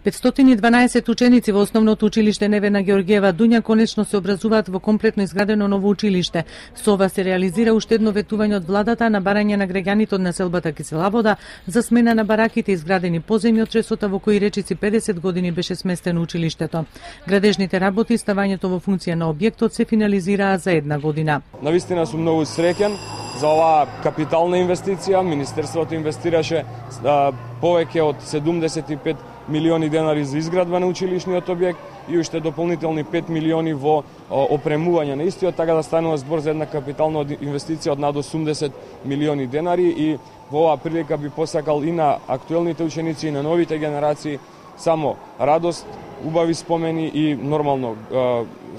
512 ученици во основното училиште Невена Георгиева Дуња конечно се образуваат во комплетно изградено ново училиште. Со ова се реализира уште едно ветување од владата на барање на граѓаните од населбата Кисела вода за смена на бараките изградени поземји од тресота во кои речици 50 години беше сместено училиштето. Градежните работи и ставањето во функција на објектот се финализираа за една година. Навистина сум многу среќен за оваа капитална инвестиција. Министерството инвестираше повеќе од 75 милиони денари за изградба на училишниот објект и уште дополнителни 5 милиони во опремување на истиот, така да станува збор за една капитална инвестиција од над 80 милиони денари и во оваа прилика би посакал и на актуелните ученици и на новите генерации само радост, убави спомени и нормално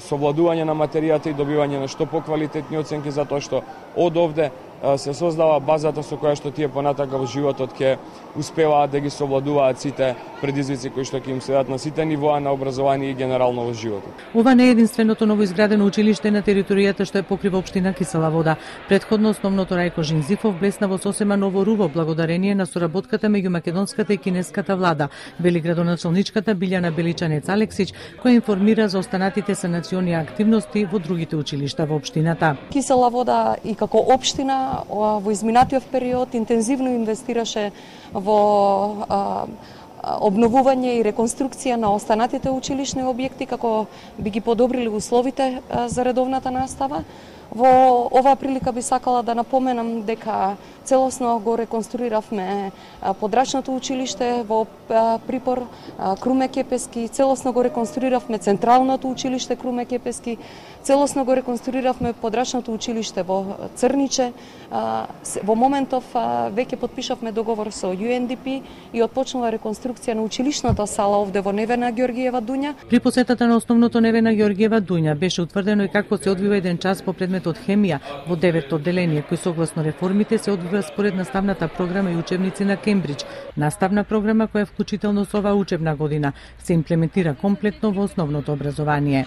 совладување на материјата и добивање на што поквалитетни оценки, затоа што од овде се создава базата со која што тие понатака во животот ќе успеваат да ги совладуваат сите предизвици кои што ќе им следат на сите нивоа на образование и генерално во животот. Ова не е единственото новоизградено училиште на територијата што е покрива општина Кисела вода. Претходно основното Рајко Жинзифов блесна во сосема ново руво благодарение на соработката меѓу македонската и кинеската влада, вели градоначалничката Билјана Беличанец Алексич, која информира за останатите санациони активности во другите училишта во општината. Кисела вода и како општина во изминатиот период интензивно инвестираше во обновување и реконструкција на останатите училишни објекти како би ги подобрили условите за редовната настава. Во оваа прилика би сакала да напоменам дека целосно го реконструиравме подрачното училиште во Припор, Круме Кепески, целосно го реконструиравме централното училиште Круме Кепески, целосно го реконструиравме подрачното училиште во Црниче. Во моментов веќе потпишавме договор со UNDP и отпочнува реконструкција на училишната сала овде во Невена Георгиева Дуња. При посетата на основното Невена Георгиева Дуња беше утврдено и како се одвива еден час по предметот хемија во 9-то одделение, кој согласно реформите се одвива според наставната програма и учебници на Кембридж, наставна програма која вклучително со оваа учебна година се имплементира комплетно во основното образование.